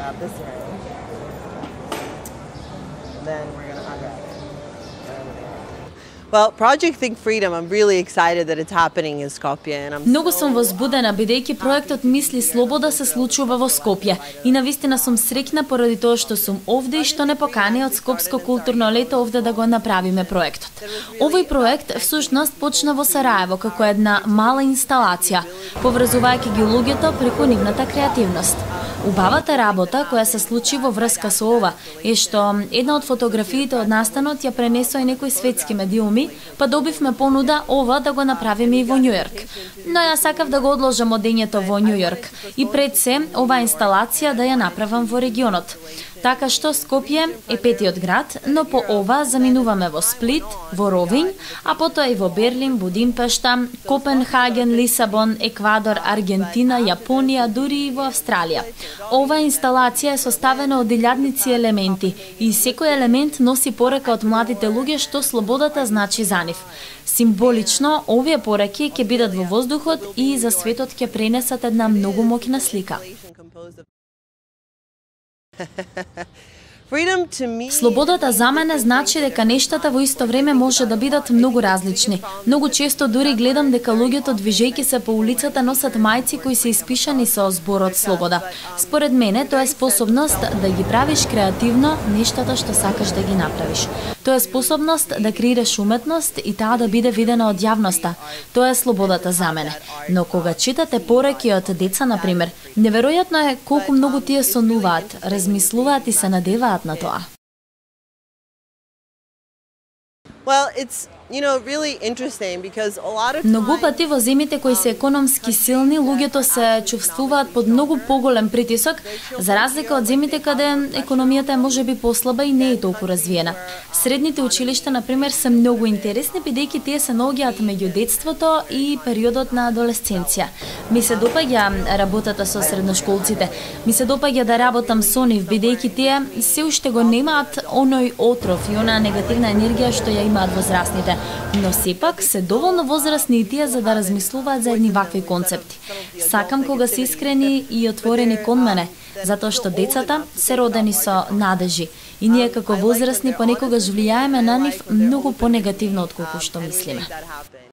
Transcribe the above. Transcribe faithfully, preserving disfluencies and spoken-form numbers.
grab this ring. And then we're going to unwrap it. Well, Project Think Freedom, I'm really excited that it's happening in Skopje. And I'm Многу сум возбудена бидејќи проектот Мисли слобода се случува во Скопје и навистина сум среќна поради тоа што сум овде и што не покани од Скопско културно лето овде да го направиме проектот. Овој проект всушност почна во Сараево како една мала инсталација, поврзувајќи ги луѓето преку нивната креативност. Убавата работа која се случи во врска со ова е што една од фотографиите од настанот ја пренесоа и некои светски медиуми, па добивме понуда ова да го направиме и во Њујорк. Но ја сакав да го одложам одењето во Њујорк и пред се оваа инсталација да ја направам во регионот. Така што Скопје е петиот град, но по ова заминуваме во Сплит, во Ровин, а потоа и во Берлин, Будимпешта, Копенхаген, Лисабон, Еквадор, Аргентина, Јапонија, дури и во Австралија. Оваа инсталација е составена од илјадници елементи и секој елемент носи порака од младите луѓе што слободата значи за нив. Символично, овие пораки ќе бидат во воздухот и за светот ќе пренесат една многу моќна слика. Слободата за мене значи дека нештата во исто време може да бидат многу различни. Многу често дури гледам дека луѓето движејќи се по улицата носат мајци кои се испишани со зборот слобода. Според мене тоа е способност да ги правиш креативно нештата што сакаш да ги направиш. Тоа е способност да креираш уметност и таа да биде видена од јавноста. Тоа е слободата за мене. Но кога читате пораки од деца, например, неверојатно е колку многу тие сонуваат, размислуваат и се надеваат на тоа. Well, it's you know really interesting because a lot of Многу пати во земјите кои се економски силни, луѓето се чувствуваат под многу поголем притисок, за разлика од земјите каде економијата е можеби послаба и не е толку развиена. Средните училишта, например, се многу интересни бидејќи тие се наоѓаат меѓу детството и периодот на адолесценција. Ми се допаѓа работата со средношколците. Ми се допаѓа да работам со нив бидејќи тие се уште го немаат оној отров и онаа негативна енергија што ја имаат возрастните. Но сепак се доволно возрастни и тие за да размислуваат за едни вакви концепти. Сакам кога се искрени и отворени кон мене, затоа што децата се родени со надежи и ние како возрастни понекогаш влијаеме на нив многу понегативно отколку што мислиме.